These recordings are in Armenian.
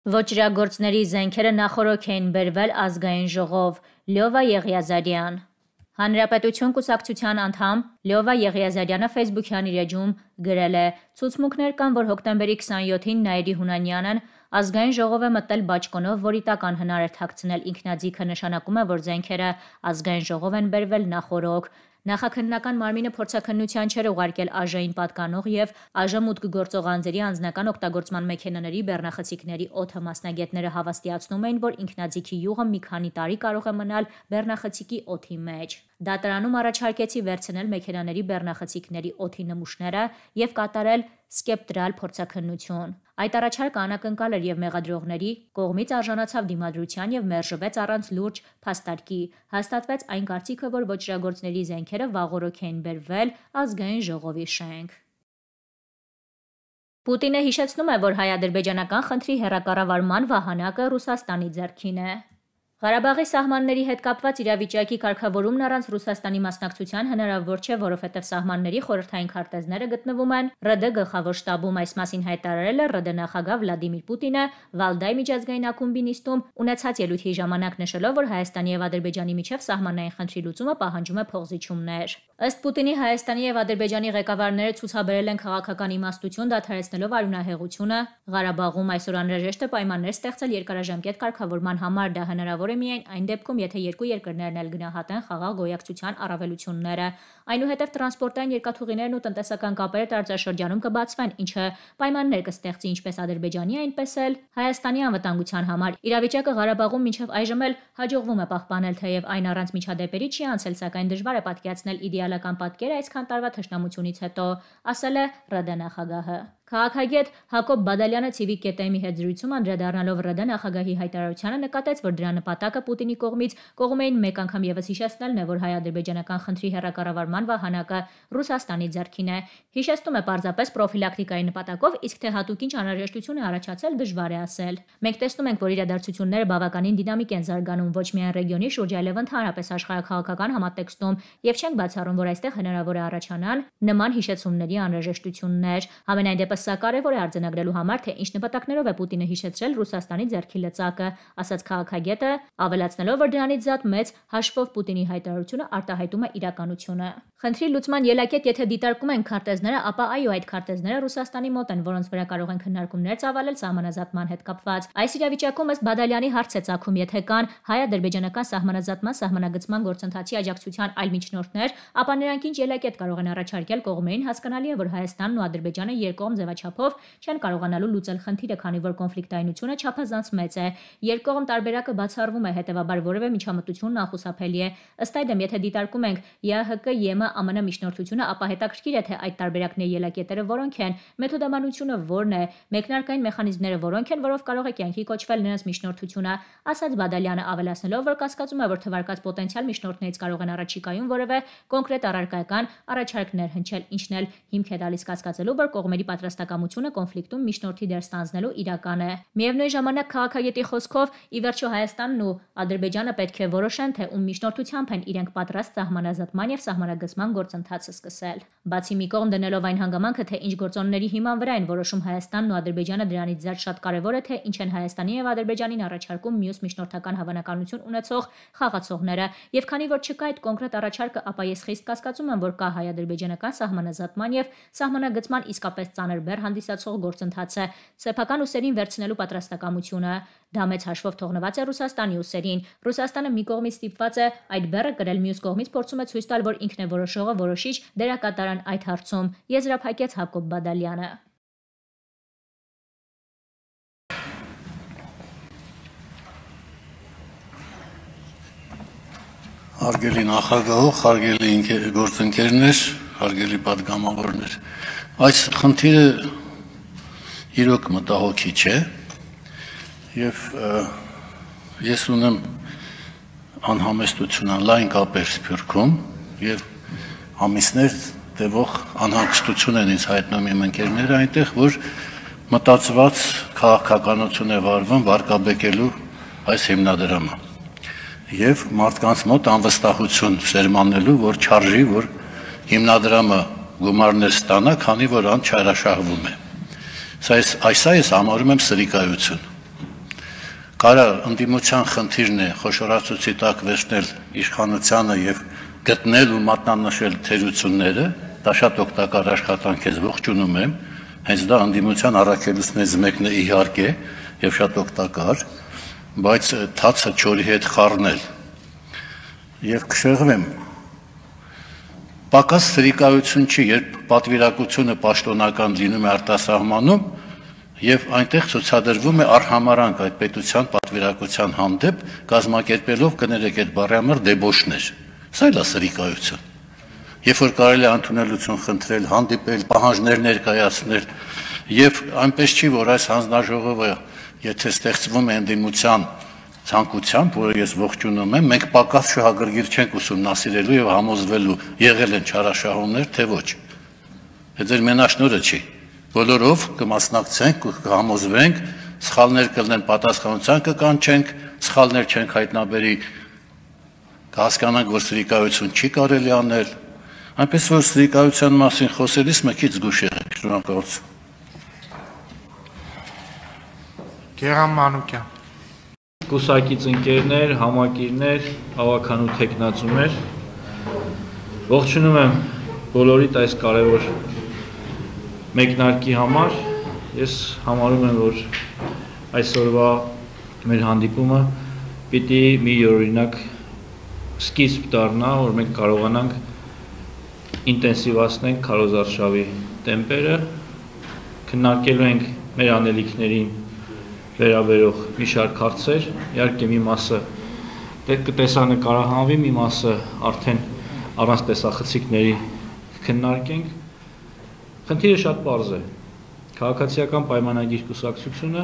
Ոճրագործների զենքերը նախօրոք էին բերվել ազգային ժողով, Լյովա Եղիազարյան։ Հանրապետություն կուսակցության անդամ Լյովա Եղիազարյանը Facebook-յան իր էջում գրել է. «Ցուցմունքներ կան, որ հոկտեմբերի 27-ին Նաիրի Հունանյանն ազգային ժողով է մտել բաճկոնով, որի տակ անհնար էր թաքցնել ինքնաձիգը, նշանակում է, որ զենքերը ազգային ժողով են բերվել նախօրոք։ Նախաքննական մարմինը փորձաքննության չէր ուղարկել ԱԺ-ին պատկանող և ԱԺ մուտք գործող անձերի անձնական օգտագործման մեքենաների բեռնախցիկների օդը։ Մասնագետները հավաստիացնում էին, որ ինքնաձիգի յուղը մի քանի տարի կարող է մնալ բեռնախցիկի օդի մեջ։ Դատարանում առաջարկեցի վերցնել մեքենաների բեռնախցիկների օդի նմուշները և կատարել սկեպտրալ փորձաքննություն։ Այդ առաջարկը անակնկալ էր և մեղադրողների կողմից արժանացավ դիմադրության և մերժվեց առանց լուրջ փաստարկի։ Հաստատվեց այն կարծիքը, որ ոճրագործների զենքերը վաղօրոք էին բերվել ազգային ժողովի շենք»։ Պուտինը հիշեցնում է, որ հայ-ադրբեջանական խնդրի հեռակառավարման վահանակը Ռուսաստանի ձեռքին է։ Ղարաբաղի սահմանների հետ կապված իրավիճակի կարգավորումն առանց Ռուսաստանի մասնակցության հնարավոր չէ, որովհետև սահմանների խորհրդային քարտեզները գտնվում են ՌԴ գլխավոր շտաբում։ Այս մասին հայտարարել է ՌԴ նախագահ Վլադիմիր Պուտինը Վալդայ միջազգային ակումբի նիստում ունեցած ելույթի ժամանակ, նշելով, որ Հայաստանի և Ադրբեջանի միջև սահմանային խնդրի լուծումը պահանջում է փոխզիջումներ։ Ըստ Պուտինի, Հայաստանի և Ադրբեջանի ղեկավարները ցուցաբերել են քաղաքական իմաստություն՝ դադարեցնելով արյունահեղությունը Ղարաբաղում։ Այսօր անհրաժեշտ է պայմաններ ստեղծել երկարաժամկետ կարգավորման համար։ Դա հնարավոր է միայն այն դեպքում, եթե երկու երկրներն էլ գնահատեն խաղաղ գոյակցության առավելությունները։ Այնուհետև տրանսպորտային երկաթուղիներն ու տնտեսական կապերը տարածաշրջանում կբացվեն, ինչը պայմաններ կստեղծի ինչպես Ադրբեջանի, այնպես էլ Հայաստանի անվտանգության համար։ Իրավիճակը Ղարաբաղում մինչև այժմ էլ հաջողվում է պահպանել, թեև այն առանց միջադեպերի չի անցել, սակայն դժվար է պատկերացնել իդեալական պատկեր այսքան տարվա թշնամությունից հետո, ասել է ՌԴ նախագահը։ Քաղաքագետ Հակոբ Բադալյանը Civic կետեմի հետ զրույցում անդրադառնալով ՌԴ նախագահի հայտարարությանը նկատեց, որ դրա նպատակը Պուտինի կողմից կողմերին մեկ անգամ ևս հիշեցնելն է, որ հայ-ադրբեջանական խնդրի հեռակառավարման վահանակը Ռուսաստանի ձեռքին է։ Հիշեցնում է պարզապես պրոֆիլակտիկայի նպատակով, իսկ թե հատուկ ինչ անհրաժեշտություն է առաջացել, դժվար է ասել։ Մենք տեսնում ենք, որ իրադարձությունները բավականին դինամիկ են զարգանում ոչ միայն ռեգիոնի շուրջ, այլև ընդհանրապես աշխարհաքաղաքական համատեքստում, եւ չենք բացառում, որ այստեղ հնարավոր է առաջանան նման հիշեցումների անհրաժեշտություններ։ Համենայն դեպս սա կարևոր է արձանագրելու համար, թե ինչ նպատակներով է Պուտինը հիշեցրել Ռուսաստանի ձեռքի լծակը, ասաց քաղաքագետը, ավելացնելով, որ դրանից զատ մեծ հաշվով Պուտինի հայտարարությունը արտահայտում է իրականությունը։ Խնդրի լուծման ելակետ, եթե դիտարկում են քարտեզները, ապա այո, այդ քարտեզները Ռուսաստանի մոտ են, որոնց վրա կարող են քննարկումներ ծավալել սահմանազատման հետ կապված։ Այս իրավիճակում ըստ Բադալյանի հարց է ծագում, եթե կան հայ-ադրբեջանական սահմանազատման սահմանագծման գործընթացի աջակցության այլ միջնորդներ, ապա նրանք ինչ ելակետ կարող են առաջարկել կողմերին։ Հասկանալի է, որ Հայաստանն ու Ադրբեջանը երկկողմ ձևաչափով չեն կարողանալու լուծել խնդիրը, քանի որ կոնֆլիկտայնությունը չափազանց մեծ է։ Երկկողմ տարբերակը բացառվում է, հետևաբար որևէ միջամտություն անխուսափելի է։ Ըստ այդմ, եթե դիտարկում ենք ԵԱՀԿ, ԵՄ, ԱՄՆ միջնորդությունը, ապա հետաքրքիր է, թե այդ տարբերակների ելակետերը որոնք են, մեթոդամանությունը որն է, մեկնարկային մեխանիզմները որոնք են, որով կարող է կյանքի կոչվել նրանց միջնորդությունը, ասաց Բադալյանը, ավելացնելով, որ կասկածում է, որ թվարկած պոտենցիալ միջնորդներից կարող են առաջիկայում որևէ կոնկրետ առարկայական առաջարկներ հնչել, ինչն էլ հիմք է տալիս կասկածելու, որ կողմերի պատրաստակամությունը կոնֆլիկտում միջնորդի դեր ստանձնելու իրական է։ Միևնույն ժամանակ քաղաքագետի խոսքով, ի վերջո Հայաստանն ու Ադրբեջանը պետք է որոշեն, թե ում միջնորդությամբ են իրենք պատրաստ սահմանազատման եւ սահմանագծման գործընթացը սկսել։ Բացի մի կողմ դնելով այն հանգամանքը, թե ինչ գործոնների հիման վրա են որոշում Հայաստանն ու Ադրբեջանը, դրանից զատ շատ կարևոր է, թե ինչ են Հայաստանի եւ Ադրբեջանին առաջարկում մյուս միջնորդական հավանականություն ունեցող խաղացողները։ Եվ քանի որ չկա այդ կոնկրետ առաջարկը, ապա ես խիստ կասկածում եմ, որ կա հայ-ադրբեջանական սահմանազատման եւ սահմանագծման իսկապես ծանր բեռ հանդիսացող գործընթացը սեփական ուսերին վերցնելու պատրաստակամությունը։ Դա մեծ հաշվով թողնված է Ռուսաստանի ուսերին։ Ռուսաստանը մի կողմից ստիպված է այդ բեռը կրել, մյուս կողմից փորձում է ցույց տալ, որ ինքն է որոշողը, որոշիչ դերակատարան այդ հարցում, եզրափակեց Հակոբ Բադալյանը։ Հարգելի նախագահող, հարգելի գործընկերներ, հարգելի պատգամավորներ, այս խնդիրը իրոք մտահոգիչ է եւ ես ունեմ անհամեստություն, լայն կապեր Սփյուռքում եւ ամիսներ տևող անհանգստություն են ինձ հայտնում իմ ընկերները այնտեղ, որ մտածված քաղաքականություն է վարվում վարկաբեկելու այս հիմնադրամը եւ մարդկանց մոտ անվստահություն սերմանելու, որ չարժի, որ հիմնադրամը գումարներ ստանա, քանի որ ան չարաշահվում է։ Այս համարում եմ սրիկայություն։ կարա ընդդիմության խնդիրն է խոշորացուցի տակ վերցնել իշխանությանը եւ գտնել ու մատնանշել թերությունները, դա շատ օգտակար աշխատանք է, ողջունում եմ, հենց դա ընդդիմության առաքելություններից մեկն է իհարկե եւ շատ օգտակար, բայց թացը չորի հետ խառնել եւ կշեղվեմ պակաս սրիկայություն չի, երբ պատվիրակությունը պաշտոնական լինում է արտասահմանում եւ այնտեղ ցուցադրվում է արհամարանք այդ պետության պատվիրակության հանդեպ կազմակերպելով կներեք այդ բառի համար դեբոշներ։ Սա էլ է սրիկայություն։ Երբ որ կարելի է ընդունելություն խնդրել, հանդիպել, պահանջներ ներկայացնել եւ այնպես չի, որ այս հանձնաժողովը եթե ստեղծվում է ընդդիմության ցանկությամբ, որը ես ողջունում եմ, մենք պակաս շահագրգիռ չենք ուսումնասիրելու եւ համոզվելու եղել են չարաշահումներ, թե ոչ։ Դա ձեր մենաշնորհը չի։ Բոլորով կմասնակցենք ու կհամոզվենք, սխալներ կլինեն, պատասխանատվության կկանչենք, սխալներ չենք հայտնաբերի, կհասկանանք, որ սրիկայություն չի կարելի անել, այնպես որ սրիկայության մասին խոսելիս մեկից զգուշ եղեք, շնորհակալություն։ Գերամ Մանուկյան։ Կուսակից ընկերներ, համակիրներ, հավաքանու թեկնածուներ, ողջունում եմ բոլորիդ այս կարևոր մեկնարկի համար, ես համարում եմ, որ այսօրվա մեր հանդիպումը պիտի մի յուրօրինակ սկիզբ դառնա, որ մենք կարողանանք ինտենսիվացնենք քարոզարշավի տեմպերը, քննարկելու ենք մեր անելիքներին վերաբերող մի շարք հարցեր, իհարկե մի մասը կտեսանկարահանվի, մի մասը արդեն առանց տեսախցիկների քննարկենք։ Խնդիրը շատ պարզ է։ Քաղաքացիական պայմանագիր կուսակցությունը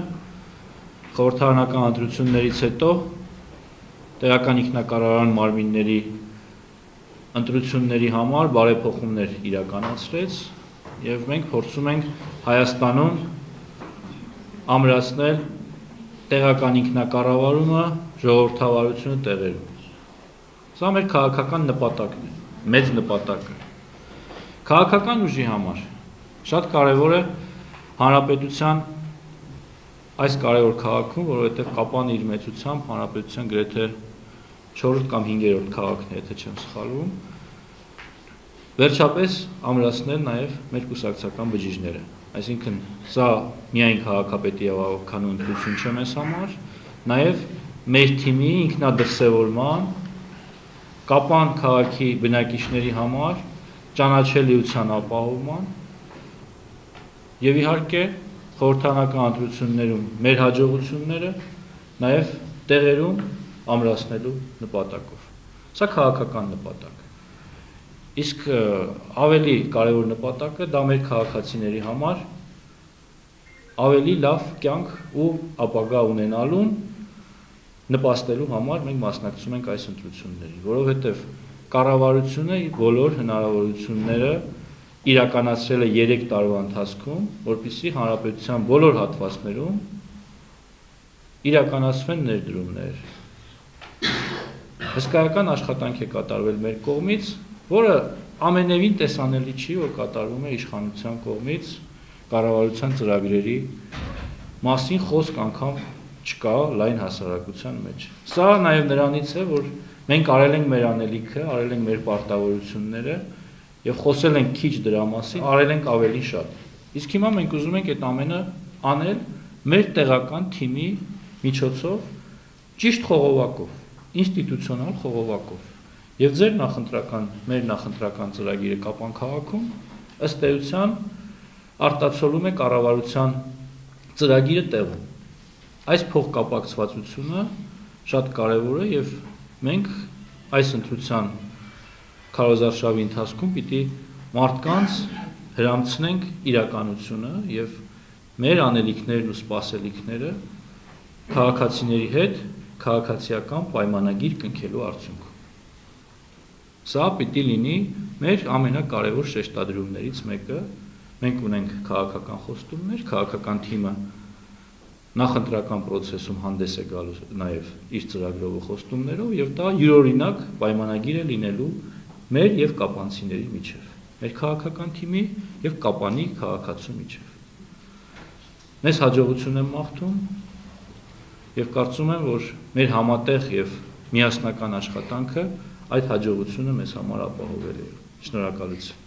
խորհրդարանական ընտրություններից հետո տեղական ինքնակառավարման մարմինների ընտրությունների համար բարեփոխումներ իրականացրեց եւ մենք փորձում ենք Հայաստանում ամրացնել տեղական ինքնակառավարումը, ժողովրդավարությունը տեղերում։ Սա մեր քաղաքական նպատակն է, մեծ նպատակը։ Քաղաքական ուժի համար շատ կարևոր է հանրապետության այս կարևոր քաղաքում, որովհետև կապան իր մեծությամբ հանրապետության գրեթե 4-րդ կամ 5-րդ քաղաքն է, եթե չեմ սխալվում, վերջապես ամրացնել նաև մեր կուսակցական բջիջները։ Այսինքն սա միայն քաղաքապետի եւ հավաքանու ընտրություն չէ մեզ համար, նաև մեր թիմի ինքնադրսևորման, կապան քաղաքի բնակիչների համար ճանաչելիության ապահովման եւ իհարկե խորհրդարանական ընտրություններում մեր հաջողությունները նաև տեղերում ամրացնելու նպատակով։ Սա քաղաքական նպատակ է։ Իսկ ավելի կարևոր նպատակը դա մեր քաղաքացիների համար ավելի լավ կյանք ու ապագա ունենալուն նպաստելու համար մենք մասնակցում ենք այս ընտրություններին, որովհետև կառավարությունը բոլոր հնարավորությունները իրականացրել է 3 տարվա ընթացքում, որպեսզի հանրապետության բոլոր հատվածներում իրականացվեն ներդրումներ։ Հսկայական աշխատանք է կատարվել մեր կողմից, որը ամենևին տեսանելի չի, որ կատարվում է իշխանության կողմից կառավարության ծրագրերի մասին խոսք անգամ չկա լայն հասարակության մեջ։ Սա նաև նրանից է, որ մենք արել ենք մեր անելիքը, արել ենք մեր պարտավորությունները եւ խոսել ենք քիչ դրա մասին, արել ենք ավելի շատ։ Իսկ հիմա մենք ուզում ենք այդ ամենը անել մեր տեղական թիմի միջոցով, ճիշտ խողովակով, ինստիտուցիոնալ խողովակով։ Եվ ձեր նախընտրական, մեր նախընտրական ծրագիրը Կապան քաղաքում ըստ էության արտացոլում է կառավարության ծրագիրը տեղում։ Այս փոխկապակցվածությունը շատ կարևոր է եւ մենք այս ընտրության քարոզարշավի ընթացքում պիտի մարդկանց հրամցնենք իրականությունը եւ մեր անելիքներն ու սպասելիքները քաղաքացիների հետ քաղաքացիական պայմանագիր կնքելու արդյունքում։ Սա պիտի լինի մեր ամենակարևոր շեշտադրումներից մեկը։ Մենք ունենք քաղաքական խոստումներ, քաղաքական թիմը նախընտրական process-ում հանդես է գալու նաև իր ծրագրով ու խոստումներով եւ դա յուրօրինակ պայմանագիր է լինելու մեր եւ կապանցիների միջեւ, մեր քաղաքական թիմի եւ կապանի քաղաքացու միջեւ։ Մեզ հաջողություն եմ մաղթում եւ կարծում եմ, որ մեր համատեղ եւ միասնական աշխատանքը այդ հաջողությունը մեզ համար ապահովել է։ Շնորհակալություն։